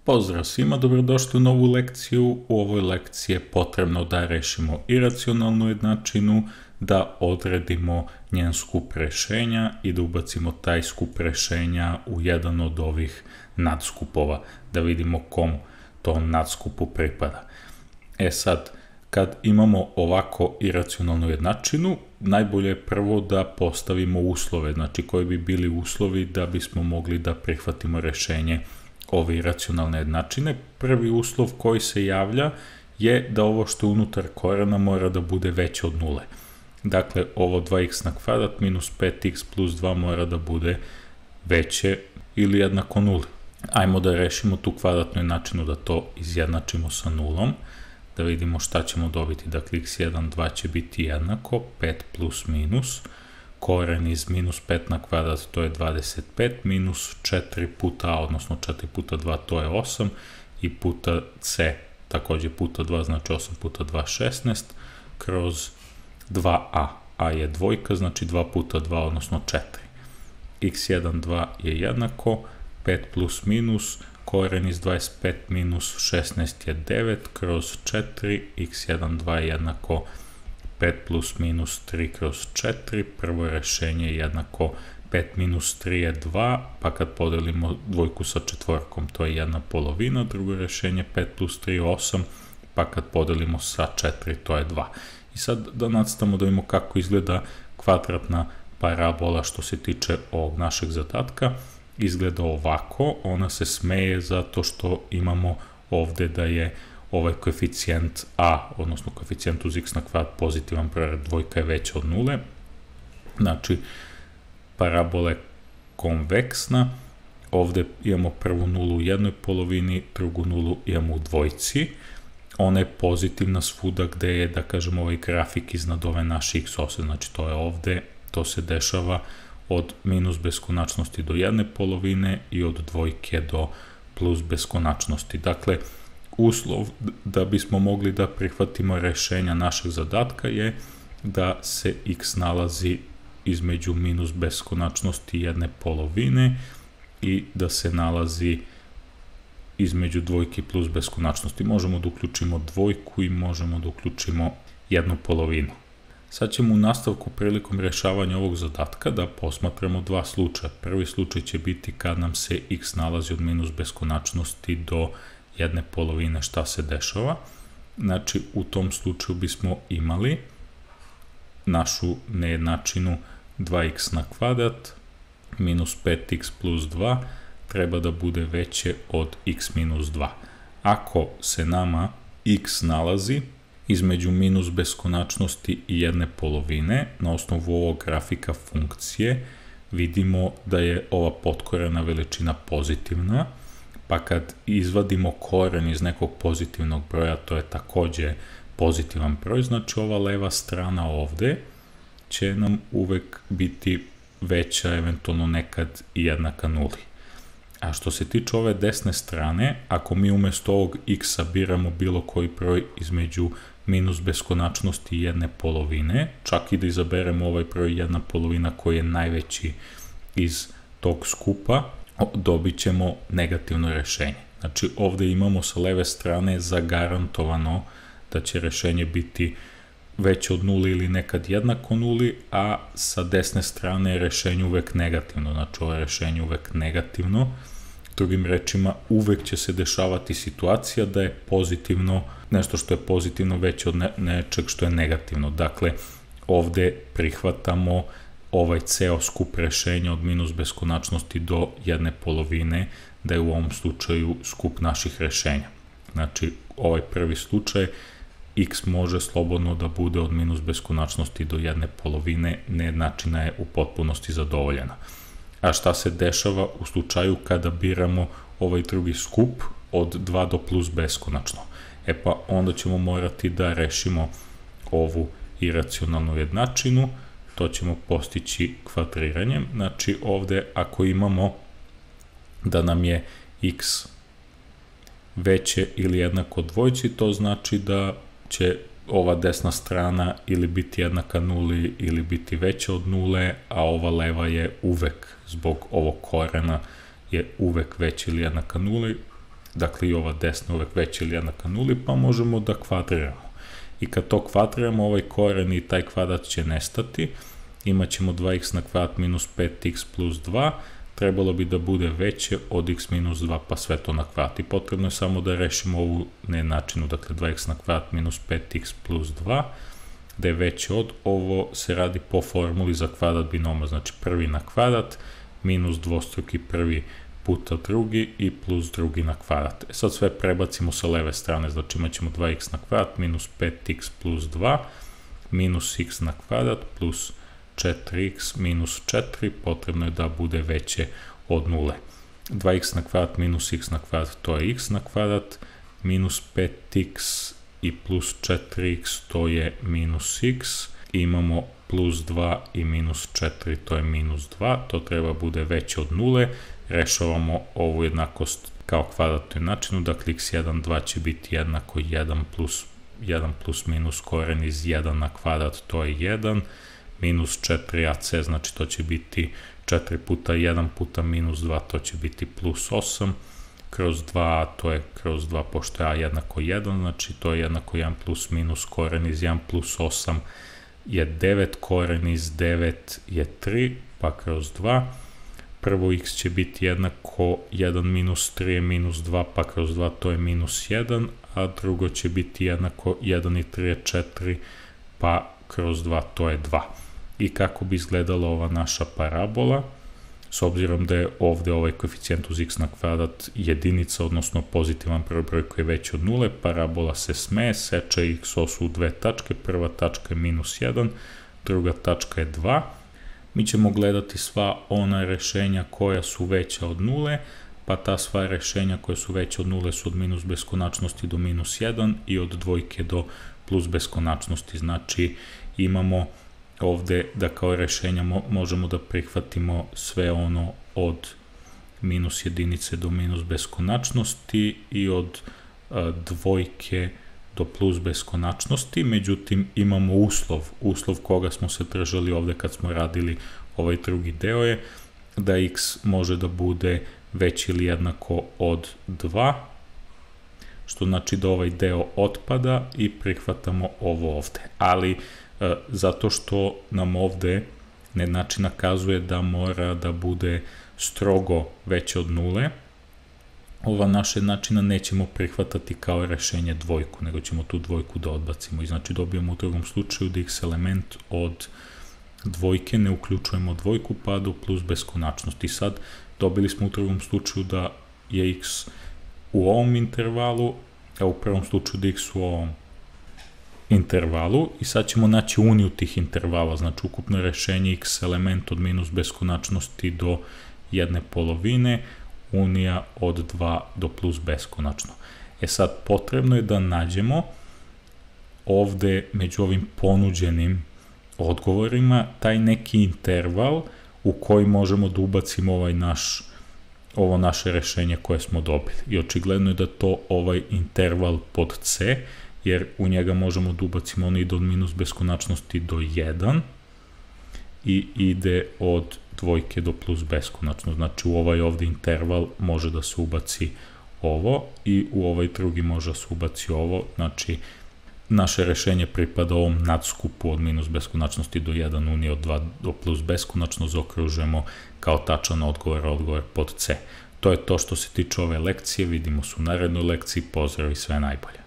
Pozdrav svima, dobrodošli u novu lekciju. U ovoj lekciji je potrebno da rešimo iracionalnu jednačinu, da odredimo njen skup rešenja i da ubacimo taj skup rešenja u jedan od ovih nadskupova, da vidimo kom tom nadskupu pripada. Sad, kad imamo ovako iracionalnu jednačinu, najbolje je prvo da postavimo uslove, znači koji bi bili uslovi da bismo mogli da prihvatimo rešenje ove iracionalne jednačine. Prvi uslov koji se javlja je da ovo što je unutar korena mora da bude veće od nule. Dakle, ovo 2x na kvadrat minus 5x plus 2 mora da bude veće ili jednako nuli. Ajmo da rešimo tu kvadratnu jednačinu, da to izjednačimo sa nulom, da vidimo šta ćemo dobiti. Dakle, x1, 2 će biti jednako, 5 plus minus, koren iz minus 5 na kvadrat, to je 25, minus 4 puta a, odnosno 4 puta 2, to je 8, i puta c, takođe puta 2, znači 8 puta 2, 16, kroz 2a. A je dvojka, znači 2 puta 2, odnosno 4. x1, 2 je jednako, 5 plus minus, koren iz 25 minus 16 je 9, kroz 4, x1, 2 je jednako 5 plus minus 3 kroz 4, prvo rešenje je jednako 5 minus 3 je 2, pa kad podelimo dvojku sa četvorkom, to je 1/2, drugo rešenje 5 plus 3 je 8, pa kad podelimo sa 4, to je 2. I sad da nastavimo da vidimo kako izgleda kvadratna parabola što se tiče ovog našeg zadatka. Izgleda ovako, ona se smeje zato što imamo ovde da je ovaj koeficijent a, odnosno koeficijent uz x na kvadrat pozitivan, dvojka je veća od nule. Znači, parabola je konveksna, ovde imamo prvu nulu u jednoj polovini, drugu nulu imamo u dvojci. Ona je pozitivna svuda gde je, da kažem, ovaj grafik iznad ove naše x ose, znači to je ovde, to se dešava od minus beskonačnosti do jedne polovine i od dvojke do plus beskonačnosti. Dakle, uslov da bismo mogli da prihvatimo rešenja našeg zadatka je da se x nalazi između minus beskonačnosti i jedne polovine i da se nalazi između dvojke plus beskonačnosti. Možemo da uključimo dvojku i možemo da uključimo jednu polovinu. Sad ćemo u nastavku prilikom rešavanja ovog zadatka da posmatramo dva slučaja. Prvi slučaj će biti kad nam se x nalazi od minus beskonačnosti do jedne polovine, šta se dešava. Znači, u tom slučaju bismo imali našu nejednačinu 2x na kvadrat minus 5x plus 2 treba da bude veće od x minus 2. Ako se nama x nalazi između minus beskonačnosti i jedne polovine, na osnovu ovog grafika funkcije vidimo da je ova potkorena veličina pozitivna, pa kad izvadimo koren iz nekog pozitivnog broja, to je takođe pozitivan broj, znači ova leva strana ovde će nam uvek biti veća, eventualno nekad i jednaka nuli. A što se tiče ove desne strane, ako mi umesto ovog x-a biramo bilo koji broj između minus beskonačnosti i jedne polovine, čak i da izaberemo ovaj broj jedna polovina koji je najveći iz tog skupa, dobit ćemo negativno rešenje. Znači, ovde imamo sa leve strane zagarantovano da će rešenje biti veće od nuli ili nekad jednako nuli, a sa desne strane je rešenje uvek negativno. Znači, ovo je rešenje uvek negativno. Drugim rečima, uvek će se dešavati situacija da je pozitivno, nešto što je pozitivno veće od nečeg što je negativno. Dakle, ovde prihvatamo ovaj ceo skup rešenja od minus beskonačnosti do jedne polovine, da je u ovom slučaju skup naših rešenja. Znači, ovaj prvi slučaj, x može slobodno da bude od minus beskonačnosti do jedne polovine, nejednačina je u potpunosti zadovoljena. A šta se dešava u slučaju kada biramo ovaj drugi skup od 2 do plus beskonačno? Pa onda ćemo morati da rešimo ovu iracionalnu jednačinu, to ćemo postići kvadriranjem. Znači, ovde ako imamo da nam je x veće ili jednako dvojci, to znači da će ova desna strana ili biti jednaka nuli ili biti veća od nule, a ova leva je uvek, zbog ovog korena, je uvek veća ili jednaka nuli. dakle i ova desna uvek veća ili jednaka nuli, pa možemo da kvadriramo. I kad to kvadriramo, ovaj koren i taj kvadrat će nestati, imat ćemo 2x na kvadrat minus 5x plus 2, trebalo bi da bude veće od x minus 2, pa sve to na kvadrat. I potrebno je samo da rešimo ovu nejednačinu, dakle 2x na kvadrat minus 5x plus 2, da je veće od, ovo se radi po formuli za kvadrat binoma, znači prvi na kvadrat minus dvostruki prvi puta drugi i plus drugi na kvadrat. Sad sve prebacimo sa leve strane, znači imat ćemo 2x na kvadrat minus 5x plus 2 minus x na kvadrat plus 4x minus 4, potrebno je da bude veće od 0. 2x na kvadrat minus x na kvadrat, to je x na kvadrat, minus 5x i plus 4x, to je minus x, i imamo plus 2 i minus 4, to je minus 2, to treba bude veće od 0, rešavamo ovu jednakost kao kvadratnu jednačinu, dakle x1, 2 će biti jednako 1 plus minus koren iz 1 na kvadrat, to je 1, minus 4ac, znači to će biti 4 puta 1 puta minus 2, to će biti plus 8, kroz 2, to je kroz 2, pošto je a jednako 1, znači to je jednako 1 plus minus koren iz 1 plus 8 je 9, koren iz 9 je 3, pa kroz 2, prvo x će biti jednako 1 minus 3 je minus 2, pa kroz 2 to je minus 1, a drugo će biti jednako 1 i 3 je 4, pa kroz 2 to je 2. I kako bi izgledala ova naša parabola, s obzirom da je ovde ovaj koeficijent uz x na kvadrat jedinica, odnosno pozitivan broj koji je veći od 0, parabola se smeje, seče x osu u dve tačke, prva tačka je minus 1, druga tačka je 2. Mi ćemo gledati sva ona rešenja koja su veća od 0, pa ta sva rešenja koja su veća od 0 su od minus beskonačnosti do minus 1 i od dvojke do plus beskonačnosti. Znači imamo ovde da kao rešenja možemo da prihvatimo sve ono od minus jedinice do minus beskonačnosti i od dvojke do plus beskonačnosti, međutim imamo uslov koga smo se držali ovde kad smo radili ovaj drugi deo je da x može da bude veći ili jednako od 2, što znači da ovaj deo otpada i prihvatamo ovo ovde, ali zato što nam ovde nejednačina kazuje da mora da bude strogo veće od 0, ova naša jednačina nećemo prihvatati kao rešenje dvojku, nego ćemo tu dvojku da odbacimo i znači dobijemo u drugom slučaju da x element od dvojke ne uključujemo dvojku pa do plus beskonačnosti. Sad dobili smo u drugom slučaju da je x u ovom intervalu, a u prvom slučaju da je x u ovom intervalu i sad ćemo naći uniju tih intervala, znači ukupno rešenje x element od minus beskonačnosti do jedne polovine, unija od 2 do plus beskonačno. E sad, potrebno je da nađemo ovde među ovim ponuđenim odgovorima taj neki interval u koji možemo da ubacimo ovo naše rešenje koje smo dobili. I očigledno je da to ovaj interval pod C, jer u njega možemo da ubacimo ono ide od minus beskonačnosti do 1 i ide od dvojke do plus beskonačno. Znači u ovaj ovde interval može da se ubaci ovo i u ovaj drugi može da se ubaci ovo. Znači naše rešenje pripada ovom nadskupu od minus beskonačnosti do 1 unije od 2 do plus beskonačno, zaokružujemo kao tačan odgovor pod C. To je to što se tiče ove lekcije, vidimo se u narednoj lekciji, pozdrav i sve najbolje.